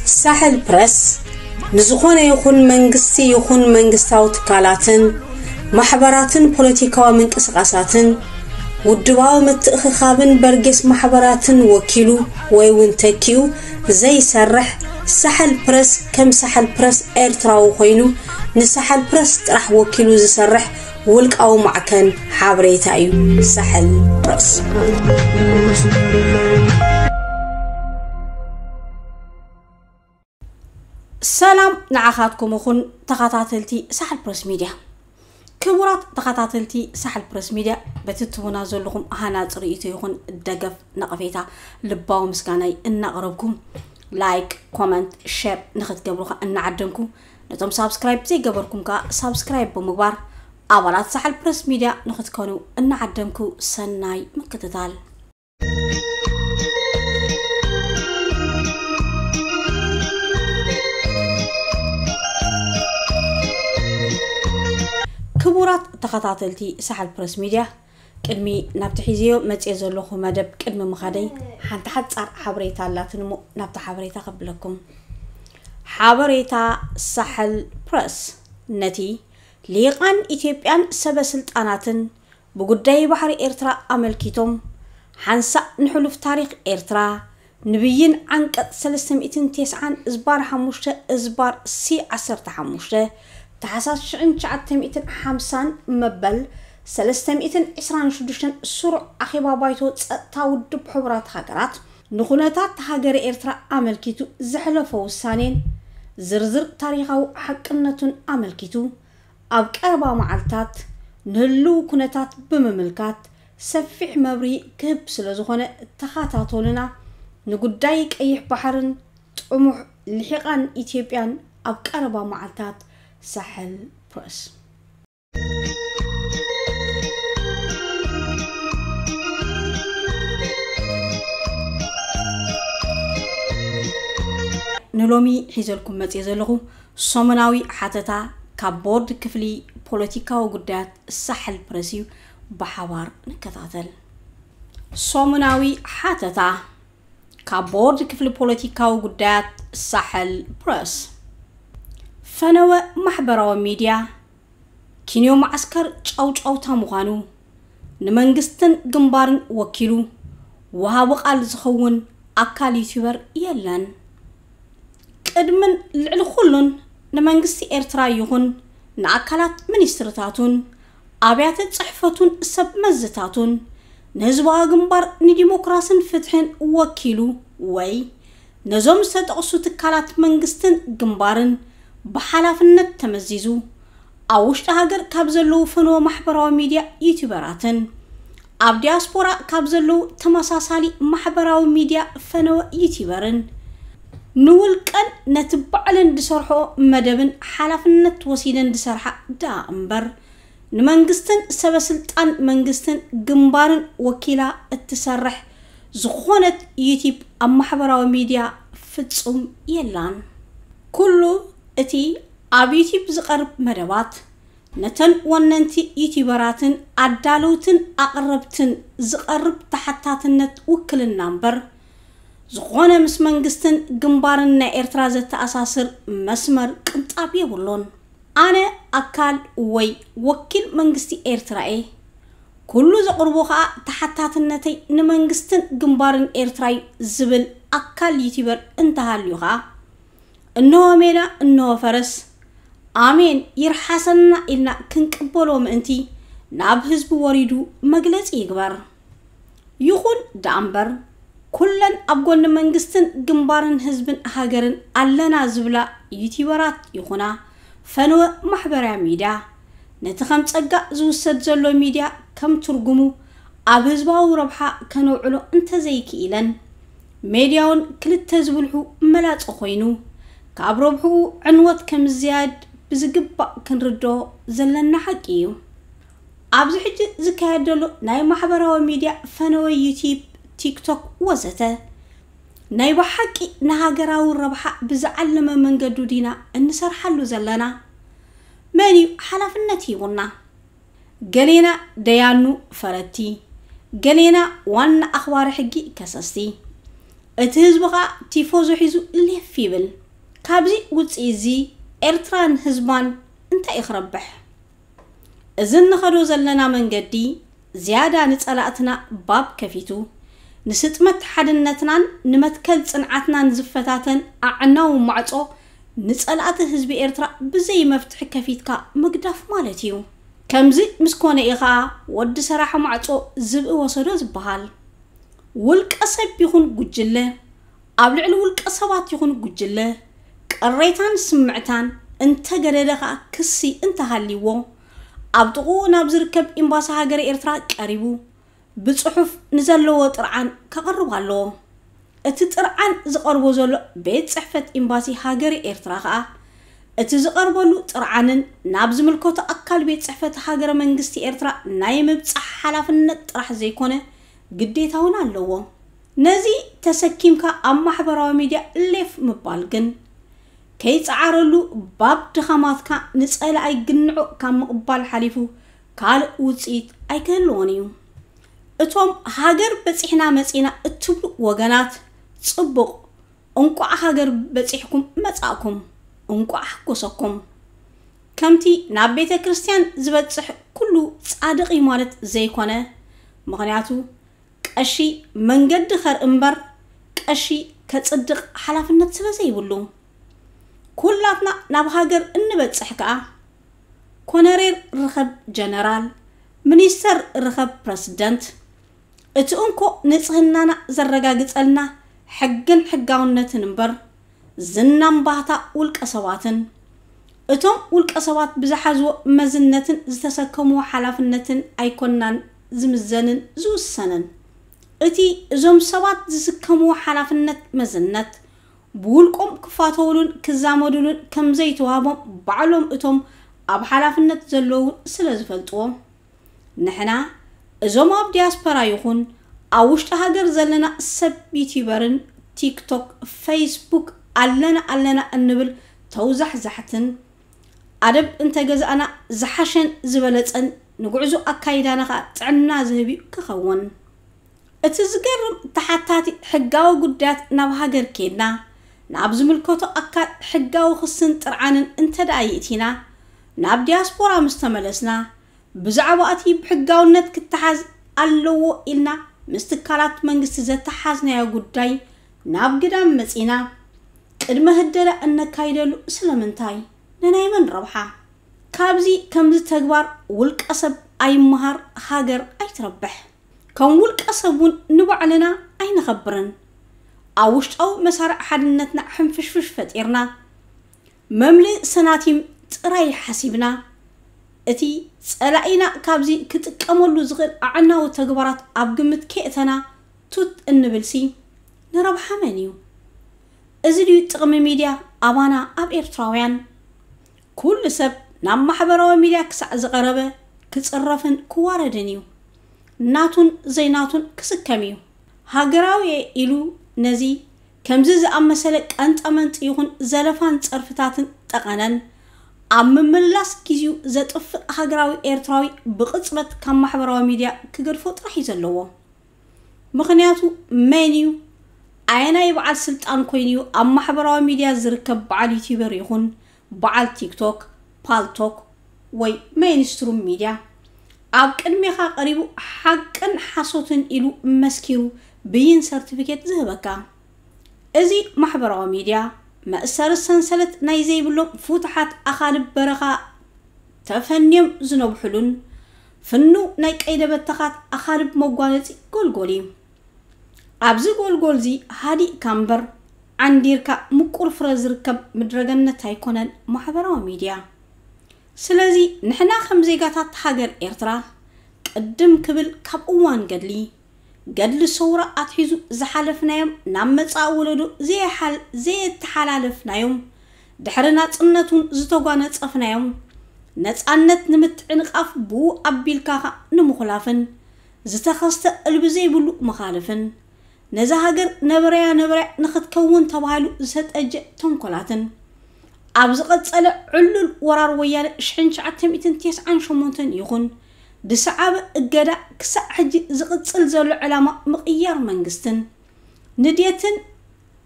ሳሕል ፕረስ ንዝኾነ ይኹን መንግስቲ ይኹን መንግስታዊ ትካላትን ማሕበራትን ፖለቲካዊ ምንቅስቃሳትን ውድባዊ ምትእኽኻብን በርጌስ ማሕበራትን ወኪሉ ወይ እውን ተኪኡ ዘይሰርሕ፣ ሳሕል ፕረስ ከም ሳሕል ፕረስ ኤርትራዊ ኮይኑ ንሳሕል ፕረስ ጥራሕ ወኪሉ ዝሰርሕ ውልቃዊ ማዕከን ሓበሬታ እዩ። ሳሕል ፕረስ። ሰላም ንዓኻትኩም ይኹን ተኸታተልቲ ሳሕል ፕረስ ሚድያ። ክቡራት ተኸታተልቲ ሳሕል ፕረስ ሚድያ፣ በቲ ትቡና ዘለኹም ሃናጺ ርእይቶ ይኹን ደገፍ ነቐፌታ ልባዊ ምስጋናይ እናቕረብኩ፣ ላይክ፣ ኮመንት፣ ሼር ንኽትገብሩ ኸኣ እናዓደምኩ፣ ነቶም ሳብስክራይብ ዘይገበርኩም ከኣ ሳብስክራይብ ብምግባር ኣባላት ሳሕል ፕረስ ሚድያ ንኽትኮኑ እናዓደምኩ ሰናይ ምክትታል። ክቡራት ተኸታተልቲ ሳሕል ፕረስ ሚድያ፣ ቅድሚ ናብቲ ሒዝዮ መጽየ ዘለኹ መደብ ቅድሚ ምኻደይ፣ ሓንቲ ሓጻር ሓበሬታ ኣላትኒ እሞ ናብታ ሓበሬታ ከብለኩም። ሓበሬታ ሳሕል ፕረስ ነቲ ሊቃን ኢትዮጵያን ሰበ ስልጣናትን ብጉዳይ ባሕሪ ኤርትራ ኣመልኪቶም ሓንሳእ ንሕሉፍ ታሪኽ ኤርትራ፣ ንብይን ዓንቀጽ ሰለስተ ሚእትን ተስዓን እዝባር ሓሙሽተ እዝባር ሲ ዓሰርተ ሓሙሽተ፣ ታሕሳስ ሽሕን ትሽዓተ ሚእትን ሓምሳን መበል ሰለስተ ሚእትን ዕስራን ሽዱሽተን ስሩዕ ኣኼባ ባይቶ ጸጥታ ውድብ ሕቡራት ሃገራት ንኹነታት ሃገረ ኤርትራ ኣመልኪቱ ዘሕለፎ ውሳኔን ዝርዝር ታሪኻዊ ሓቅነቱን ኣመልኪቱ፣ ኣብ ቀረባ መዓልታት ንህልው ኩነታት ብምምልካት ሰፊሕ መብርሂ ክህብ ስለ ዝኾነ፣ ተኸታተሉና። ንጉዳይ ቀይሕ ባሕርን ጥሙሕ ልሒቓን ኢትዮጵያን ኣብ ቀረባ መዓልታት። ሳሕል ፕረስ። ንሎሚ ሒዘልኩም መጽየ ዘለኹ ሰሙናዊ ሓተታ ካብ ቦርድ ክፍሊ ፖለቲካዊ ጉዳያት ሳሕል ፕረስ እዩ። ብሓባር ንከታተል። ሰሙናዊ ሓተታ ካብ ቦርድ ክፍሊ ፖለቲካዊ ጉዳያት ሳሕል ፕረስ። ፈነወ ማሕበራዊ ሚድያ ኪንዮ መዓስከር ጫውጫውታ ምዃኑ፣ ንመንግስትን ግንባርን ወኪሉ ወሃቢ ቃል ዝኸውን ኣካል ዩቲዩበር የለን። ቅድምን ልዕሊ ኩሉን ንመንግስቲ ኤርትራ ይኹን ንኣካላት ሚኒስትርታቱን ኣብያተ ጽሕፈቱን ሰብ መዝታቱን ንህዝባዊ ግንባር ንዲሞክራስን ፍትሕን ወኪሉ ወይ ነዞም ዝተጠቕሱ ትካላት መንግስትን ግንባርን ብሓላፍነት ተመዚዙ፣ ኣብ ውሽጢ ሃገር ካብ ዘለዉ ፈነወ ማሕበራዊ ሚድያ ዩቲዩበራትን ኣብ ዲያስፖራ ካብ ዘለዉ ተመሳሳሊ ማሕበራዊ ሚድያ ፈነወ ዩቲዩበርን ንውልቀን ነቲ ባዕለን ዝሰርሖ መደብን ሓላፍነት ወሲደን ዝሰርሓ ደኣ እምበር፣ ንመንግስትን ሰበ ስልጣን መንግስትን ግንባርን ወኪላ እትሰርሕ ዝኾነት ዩቲብ ኣብ ማሕበራዊ ሚድያ ፍጹም የላን። ኩሉ እቲ ኣብ ዩቲብ ዝቐርብ መደባት ነተን ወነንቲ ዩቲበራትን ኣዳለውትን ኣቕረብትን ዝቐርብ ተሓታትነት ውክልና እምበር፣ ዝኾነ ምስ መንግስትን ግንባርን ናይ ኤርትራ ዘተኣሳስር መስመር ቅንጣብ የብሉን። ኣነ ኣካል ወይ ወኪል መንግስቲ ኤርትራ እየ። ኩሉ ዘቕርቦ ኸኣ ተሓታትነተይ ንመንግስትን ግንባርን ኤርትራ እዩ ዝብል ኣካል ዩቲበር እንተሃልዩ ኸኣ፣ እንሆ ሜዳ፣ እንሆ ፈረስ፣ ኣሜን ይርሓሰና ኢልና ክንቅበሎ ምእንቲ ናብ ህዝቢ ወሪዱ መግለጺ ይግበር። ይኹን ደኣ እምበር፣ ኩለን ኣብ ጎኒ መንግስትን ግንባርን ህዝብን ሃገርን ኣለና ዝብላ ዩቲበራት ይኹና ፈነወ ማሕበራዊ ሚድያ፣ ነቲ ከም ጸጋ ዝውሰድ ዘሎ ሚድያ ከም ትርጉሙ ኣብ ህዝባዊ ረብሓ ከነውዕሎ እንተዘይክኢለን፣ ሜድያውን ክልተ ዝብልሑ መላጸ ኮይኑ፣ ካብ ረብሕኡ ዕንወት ከም ዝያድ ብዝግባእ ክንርድኦ ዘለና ሓቂ እዩ። ኣብዚ ሕጂ ዝካየድ ዘሎ ናይ ማሕበራዊ ሚድያ ፈነወ ዩቲብ፣ ቲክቶክ ወዘተ፣ ናይ ብሓቂ ንሃገራዊ ረብሓ ብዝዓለመ መንገዱ ዲና እንሰርሓሉ ዘለና? መን እዩ ሓላፍነት ሂቡና? ገሌና ደያኑ ፈረድቲ፣ ገሌና ዋና ኣኽባሪ ሕጊ ከሰስቲ። እቲ ህዝቢ ኸኣ ቲፎዞ ሒዙ ሌፍ ይብል። ካብዚ ውፅኢ እዚ ኤርትራን ህዝባን እንታይ እዩ ክረብሕ? እዚ እንኸዶ ዘለና መንገዲ ዝያዳ ንጸላእትና ባብ ከፊቱ፣ ንስጥመት ሓድነትናን ንመትከል ጽንዓትናን ዝፈታተን ኣዕናዊ ማዕጾ ንጸላእቲ ህዝቢ ኤርትራ ብዘይ መፍትሒ ከፊትካ ምግዳፍ ማለት እዩ። ከምዚ ምስ ኮነ እዩ ኸኣ ወዲ ሰራሕ ማዕጾ ዝብኢ ወሰዶ ዝበሃል። ውልቀ ሰብ ይኹን ጉጅለ፣ ኣብ ልዕሊ ውልቀ ሰባት ይኹን ጉጅለ ቅሬታን ስምዕታን እንተገደደ ኸኣ ክሲ እንተሃልይዎ፣ ኣብ ጥቕኡ ናብ ዝርከብ ኤምባሲ ሃገረ ኤርትራ ቀሪቡ ብጽሑፍ ንዘለዎ ጥርዓን ከቕርብ ኣለዎ። እቲ ጥርዓን ዝቐርቦ ዘሎ ቤት ጽሕፈት ኤምባሲ ሃገረ ኤርትራ ኸኣ እቲ ዝቐርበሉ ጥርዓንን ናብ ዝምልከቶ ኣካል ቤት ጽሕፈት ሃገረ መንግስቲ ኤርትራ ናይ ምብጻሕ ሓላፍነት ጥራሕ ዘይኮነ ግዴታ እውን ኣለዎ። ነዚ ተሰኪምካ ኣብ ማሕበራዊ ሚድያ ሌፍ ምባል ግን ከይጸዓረሉ ባብ ድኻማትካ ንጸላኣይ ግንዖ ካብ ምቕባል ሓሊፉ ካልእ ውጽኢት ኣይክህልዎን እዩ። እቶም ሃገር በጺሕና መጺና እትብሉ ወገናት ጽቡቕ፣ እንቋዕ ሃገር በጺሕኩም መጻእኩም፣ እንቋዕ ሓጎሰኩም። ከምቲ ናብ ቤተ ክርስቲያን ዝበጽሕ ኩሉ ጻድቕ እዩ ማለት ዘይኮነ፣ ምኽንያቱ ቀሺ መንገዲ ኸርኢ እምበር ቀሺ ከጽድቕ ሓላፍነት ስለ ዘይብሉ። ኩላትና ናብ ሃገር እንበጽሕ ከኣ ኮነሬል ርኸብ ጀነራል፣ ሚኒስተር ርኸብ ፕረስደንት። እቲ እንኮ ንጽህናና ዘረጋግጸልና ሕግን ሕጋውነትን እምበር ዝናን ባህታ ውልቀ ሰባትን እቶም ውልቀ ሰባት ብዝሓዝዎ መዝነትን ዝተሰከምዎ ሓላፍነትን ኣይኮናን ዝምዘንን ዝውሰንን። እቲ እዞም ሰባት ዝስከምዎ ሓላፍነት መዝነት ብውልቆም ክፋተውሉን ክዛመዱሉን ከም ዘይተዋህቦም ባዕሎም እቶም ኣብ ሓላፍነት ዘለዉ ስለ ዝፈልጥዎ፣ ንሕና እዞም ኣብ ዲያስፖራ ይኹን ኣብ ውሽጢ ሃገር ዘለና ሰብ ዩቲዩበርን ቲክቶክ፣ ፌስቡክ ኣለና ኣለና እንብል ተውዛሕዛሕትን ኣደብ እንተገዛእና ዝሓሸን ዝበለጸን ንጉዕዞ ኣካይዳና ኸኣ ጥዕና ዝህብ እዩ ክኸውን። እቲ ዝገርም ተሓታቲ ሕጋዊ ጉዳያት ናብ ሃገር ኬድና ናብ ዝምልከቶ ኣካል ሕጋዊ ክስን ጥርዓንን እንተ ደኣ ይእቲና ናብ ዲያስፖራ ምስ ተመለስና ብዛዕባ እቲ ብሕጋውነት ክተሓዝ ኣለዎ ኢልና ምስ ትካላት መንግስቲ ዘተሓዝናዮ ጉዳይ ናብ ግዳም መጺና ቅድመ ህደላ እነካይደሉ ስለምንታይ? ንናይ መን ረብሓ? ካብዚ ከምዚ ተግባር ውልቀ ሰብ ኣይመሃር ሃገር ኣይትረብሕ። ከም ውልቀ ሰብ እውን ንባዕልና ኣይነኸብርን። ኣብ ውሽጣዊ መሳርዕ ሓድነትና ሕንፍሽፍሽ ፈጢርና መምልኢ ሰናቲም ጥራይ ሓሲብና እቲ ጸላኢና ካብዚ ክጥቀመሉ ዝኽእል ኣዕናዊ ተግባራት ኣብ ግምት ከየእተና ቱት እንብልሲ ንረብሓ መን እዩ? እዚ ድዩ ጥቕሚ ሚድያ ኣባና ኣብ ኤርትራውያን? ኩሉ ሰብ ናብ ማሕበራዊ ሚድያ ክሳዕ ዝቐረበ ክጽረፍን ክዋረድን እዩ። ናቱን ዘይናቱን ክስከም እዩ። ሃገራዊ እየ ኢሉ ነዚ ከምዚ ዝኣመሰለ ቀንጠመንጢ ይኹን ዘለፋን ጸርፍታትን ጠቐነን ኣብ ምምላስ ግዜኡ ዘጥፍእ ሃገራዊ ኤርትራዊ ብቕጽበት ካብ ማሕበራዊ ሚድያ ክገድፎ ጥራሕ እዩ ዘለዎ። ምኽንያቱ መን እዩ? ኣየናይ በዓል ስልጣን ኮይኑ እዩ ኣብ ማሕበራዊ ሚድያ ዝርከብ በዓል ዩቲዩበር ይኹን በዓል ቲክቶክ፣ ፓልቶክ ወይ ሜይንስትሩም ሚድያ ኣብ ቅድሜኻ ቀሪቡ ሓቅን ሓሶትን ኢሉ መስኪሩ ብይን ሰርቲፊኬት ዝህበካ? እዚ ማሕበራዊ ሚድያ መእሰሪ ሰንሰለት ናይ ዘይብሎም ፍቱሓት ኣኻልብ በረኻ ተፈንዮም ዝነብሑሉን ፍኑው ናይ ቀይደ በተኻት ኣኻልብ መጓነጺ ጎልጎል እዩ። ኣብዚ ጎልጎል እዚ ሃዲእካ እምበር ዓንዲርካ ምቁር ፍረ ዝርከብ ምድረገነት ኣይኮነን ማሕበራዊ ሚድያ። ስለዚ ንሕና ከም ዜጋታት ሃገር ኤርትራ ቅድም ክብል ካብ እዋን ገድሊ፣ ገድሊ ሰውራ ኣትሒዙ ዝሓለፍናዮም ናብ መጻኢ ወለዶ ዘየሓል-፣ ዘየተሓላለፍናዮም ድሕሪ ናጽነት እውን ዝተጓነጸፍናዮም ነጻነት ንምትዕንቓፍ ብኡ ኣቢልካ ኸኣ ንምኹላፍን ዝተኸስተ እልቢ ዘይብሉ መኻልፍን ነዛ ሃገር ነበረያ ነበረያ ንኽትከውን ተባሂሉ ዝተጠጀ ተንኮላትን ኣብ ዝቐጸለ ዕሉል ወራር ወያነ ሽሕን ትሽዓተ ሚእትን ተስዓን ሸሞንተን ይኹን ዝሰዓበ እገዳ ክሳዕ ሕጂ ዝቕጽል ዘሎ ዕላማ ምቕያር መንግስትን ንድየትን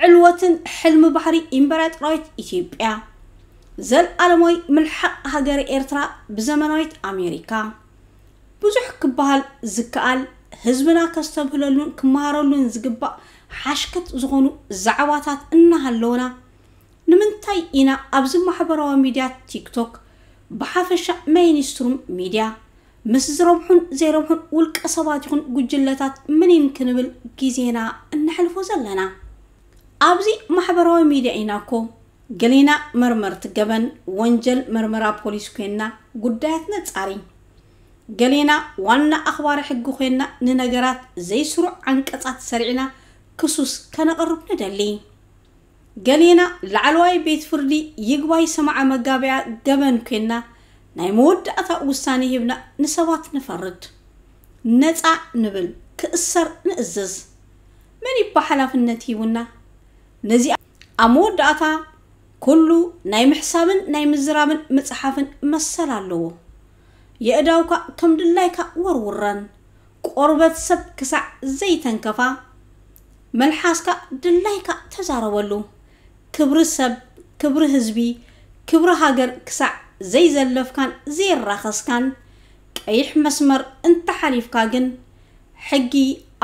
ዕልወትን ሕልሚ ባሕሪ ኢምበራጥራዊት ኢትዮጵያ፣ ዘልኣለማዊ ምልሓቕ ሃገረ ኤርትራ ብዘመናዊት ኣሜሪካ፣ ብዙሕ ክበሃል ዝከኣል፣ ህዝብና ከስተብህለሉን ክመሃረሉን ዝግባእ ሓሽከት ዝኾኑ ዛዕባታት እናሃለውና፣ ንምንታይ ኢና ኣብዚ ማሕበራዊ ሚድያ ቲክቶክ፣ ብሓፈሻ ሜይንስትሩም ሚድያ፣ ምስ ዝረብሑን ዘይረብሑን ውልቀ ሰባት ይኹን ጉጅለታት ምኒን ክንብል ግዜና እነሕልፎ ዘለና? ኣብዚ ማሕበራዊ ሚድያ ኢና እኮ ገሌና መርመርቲ ገበን፣ ወንጀል መርመራ ፖሊስ ኮይንና ጉዳያት ነጻሪ፣ ገሌና ዋና ኣኽባሪ ሕጊ ኮይንና ንነገራት ዘይስሩዕ ዓንቀጻት ሰሪዕና ክሱስ ከነቕርብ ንደሊ። ገሌና ላዕለዋይ ቤት ፍርዲ ይግባይ ሰማዓ መጋበያ ገበን ኮይንና ናይ መወዳእታ ውሳኔ ሂብና ንሰባት ንፈርድ፣ ነጻ ንብል፣ ክእሰር ንእዝዝ። መን ይባ ሓላፍነት ሂቡና? ነዚ ኣብ መወዳእታ ኩሉ ናይ ምሕሳብን ናይ ምዝራብን ምጽሓፍን መሰል ኣለዎ። የእዳውካ ከም ድላይካ ወርውረን፣ ቆርበት ሰብ ክሳዕ ዘይተንከፋ፣ መልሓስካ ድላይካ ተዛረበሉ። ክብሪ ሰብ፣ ክብሪ ህዝቢ፣ ክብሪ ሃገር ክሳዕ ዘይዘለፍካን ዘይራኸስካን፣ ቀይሕ መስመር እንተሓሊፍካ ግን፣ ሕጊ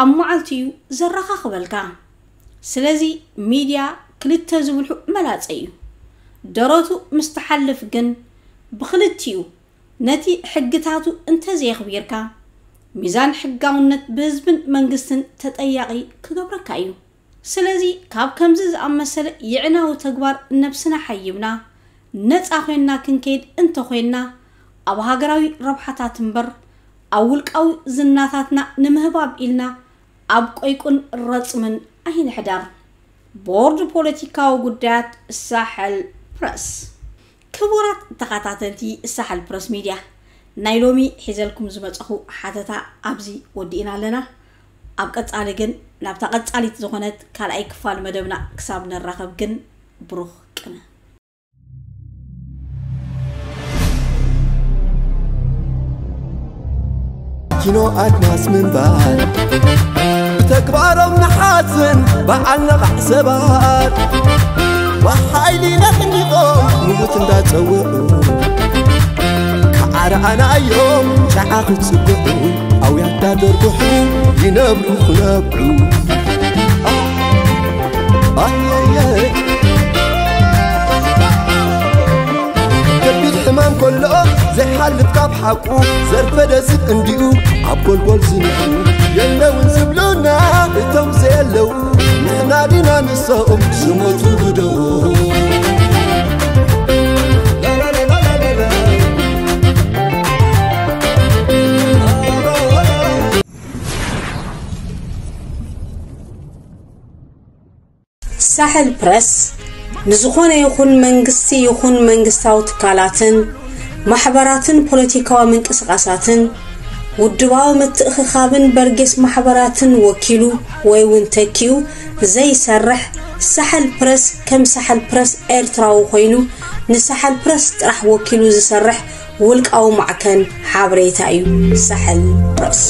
ኣብ መዓልቲ እዩ ዘረኻኽበልካ። ስለዚ ሚድያ ክልተ ዝብልሑ መላጸ እዩ። ደረቱ ምስ ትሓልፍ ግን ብኽልቲኡ ነቲ ሕግታቱ እንተዘየኽቢርካ፣ ሚዛን ሕጋውነት ብህዝብን መንግስትን ተጠያቒ ክገብረካ እዩ። ስለዚ ካብ ከምዚ ዝኣመሰለ የዕናዊ ተግባር ነብስና ሓይብና፣ ነጻ ኮይንና ክንከይድ እንተኾይንና፣ ኣብ ሃገራዊ ረብሓታት እምበር ኣብ ውልቃዊ ዝናታትና ንምህባብ ኢልና ኣብ ቆይቁን ረጽምን ኣይንሕደር። ቦርድ ፖለቲካዊ ጉዳያት ሳሕል ፕረስ። ክቡራት ተኸታተልቲ ሳሕል ፕረስ ሚድያ፣ ናይ ሎሚ ሒዘልኩም ዝመጸኹ ሓተታ ኣብዚ ወዲእና ኣለና። ኣብ ቀጻሊ ግን ናብታ ቀጻሊት ዝኾነት ካልኣይ ክፋል መደብና ክሳብ ንራኸብ ግን ብሩኽ ቅነ። ኪኖ ኣድማስ ምንባር ብተግባሮም ንሓዝን በዓል ነቓዕ ሰባት ብሓይሊ ነቕኒቖም ንሙት እንዳጸውዑ ከዓርዓና እዮም ጨዓ ክጽብዑ ኣውያት ዳደርጉሑ ይነብሩ ክነብዑ ኣየየ ከቢድ ሕማም ከሎ ዘይሓልፍ ካብ ሓቁ ዘርፈ ደስብ እንዲኡ ኣብ ጎልጎል ዝንሑ የለውን ዝብሉና እቶም ዘየለዉ ንሕና ዲና ንሶም ዝሞቱ ብደኡ ሳሕል ፕረስ ንዝኾነ ይኹን መንግስቲ ይኹን መንግስታዊ ትካላትን ማሕበራትን ፖለቲካዊ ምንቅስቓሳትን ውድባዊ ምትእኽኻብን በርጌስ ማሕበራትን ወኪሉ ወይ እውን ተኪኡ ዘይሰርሕ ሳሕል ፕረስ ከም ሳሕል ፕረስ ኤርትራዊ ኮይኑ ንሳሕል ፕረስ ጥራሕ ወኪሉ ዝሰርሕ ውልቃዊ ማዕከን ሓበሬታ እዩ። ሳሕል ፕረስ።